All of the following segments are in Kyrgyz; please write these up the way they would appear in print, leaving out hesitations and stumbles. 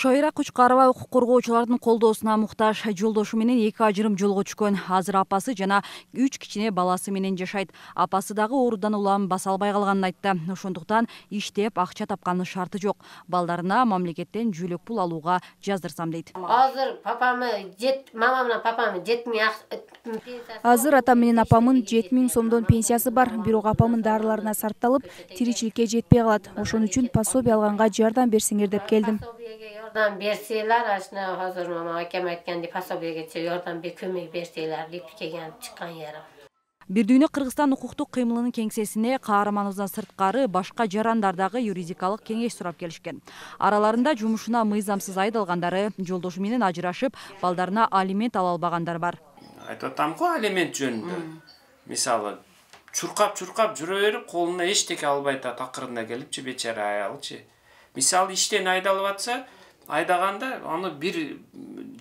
Шойра Кучкарова укук коргоочулардын колдоосуна муктаж. Жолдошу менен 2 ажырым жолго түшкөн. Азыр апасы жана 3 кичине баласы менен жашайт. Апасы дагы оорудан улам баса албай калганын айтты. Ошондуктан иштеп акча тапканын шарты жок. Балдарына мамлекеттен жүлөк пул алууга жаздырсам дейт. Азыр мамам менен папамдын 7000 Азыр атам менен апамын 7000 сомдон пенсиясы бар. Бирок апамын дарыларына сарпталып, тиричиликке жетпей калат. Ошон үчүн пособие алганга жардам берсеңер деп келдим. Жардам берсейлер, ашына азыр мама акем айткандай пособиеге жардам көмөк берсейлер деп келген чыккан жерим. Бирдүйнө Кыргызстан укуктук кыймылынын кеңсесине каарманыбыздан сырткары башка жарандардагы юридикалык кеңеш сурап келишкен. Араларында жумушуна мыйзамсыз айдалгандары, жолдошу менен ажырашып, балдарына алимент ала албагандар бар. Айтып атам го алимент жөнүндө. Мисалы, чуркап жүрө берип, колуна эчтеке албай атат, акырында келипчи бечара аялчы. Мисалы, иштен айдалып атса, айдаганда аны бир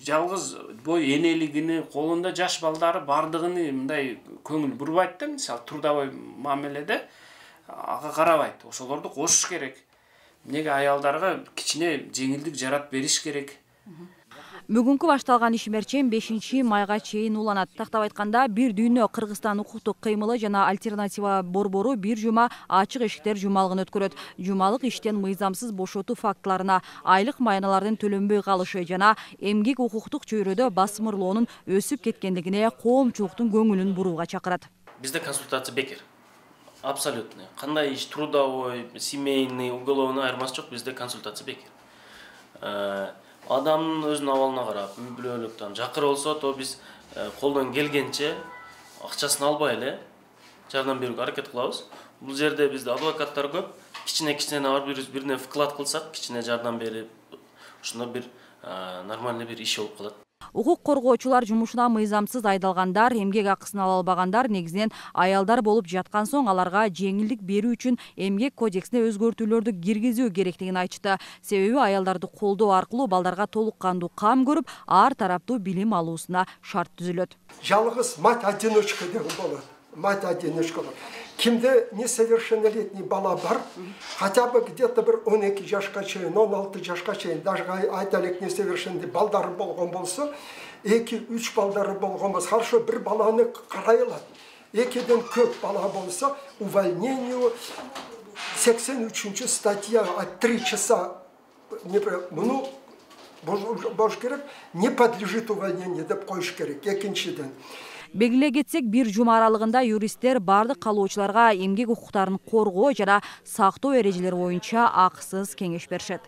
жалгыз бой энелигини, колунда жаш балдары бардыгын мындай көңүл бурбайт да, мисалы трудовой мамиледе ага карабайт. Ошолорду кошуш керек. Эмнеге аялдарга кичине жеңилдик жаратып бериш керек. Бүгүнкү башталган ишмерчен 5-майга чейин уланат. Тактап айтканда, Бирдүйнө Кыргызстан укуктук кыймылы жана альтернатива борбору бир жума ачык эшиктер жумалыгын өткөрөт. Жумалык иштен мыйзамсыз бошотуу фактыларына, айлык майналардын төлөнбөй калышы жана эмгек укуктук чөйрөдө басмырлоонун өсүп кеткендигине коомчулуктун көңүлүн бурууга чакырат. Бизде консультация бекер. Абсолютно. Кандай иш трудовой, семейный, уголовный айырмасы жок, бизде консультация бекер. Адамдын өзүнүн абалына карап, үй-бүлөлүктөн жакыр болсо, то биз колдон келгенче акчасын албай эле жардам берүүгө аракет кылабыз. Бул жерде бизде адвокаттар көп. Кичине ар бирине вклад кылсак, кичине жардам берип, ошондо бир нормальный бир иш болуп калат. Укук коргоочулар жумушуна мыйзамсыз айдалгандар, эмгек акысын ала албагандар негизинен аялдар болуп жаткан соң аларга жеңилдик берүү үчүн эмгек кодексине өзгөртүүлөрдү киргизүү керектигин айтышты. Себеби аялдарды колдоо аркылуу балдарга толук кандуу кам көрүп, ар тараптуу билим алуусуна шарт түзүлөт. Жалгыз мать-одиночка деген болот. Мать-одиночка болот. Кимде несовершеннолетний бала бар, хотя бы где-то bir 12 жашка чейин, 16 жашка чейин, даже айталык несовершенный балдары болгон болсо, 2-3 балдары болгон болсо, хорошо bir баланы карай алат. 2ден көп бала болсо, увольнению 83 статья от 3 часа бош керек, не подлежит увольнению деп коюш керек. Экинчиден Белгилей кетсек, бир жума аралыгында юристтер бардык калоочуларга эмгек укуктарын коргоо жана сактоо эрежелери боюнча акысыз кеңеш беришет.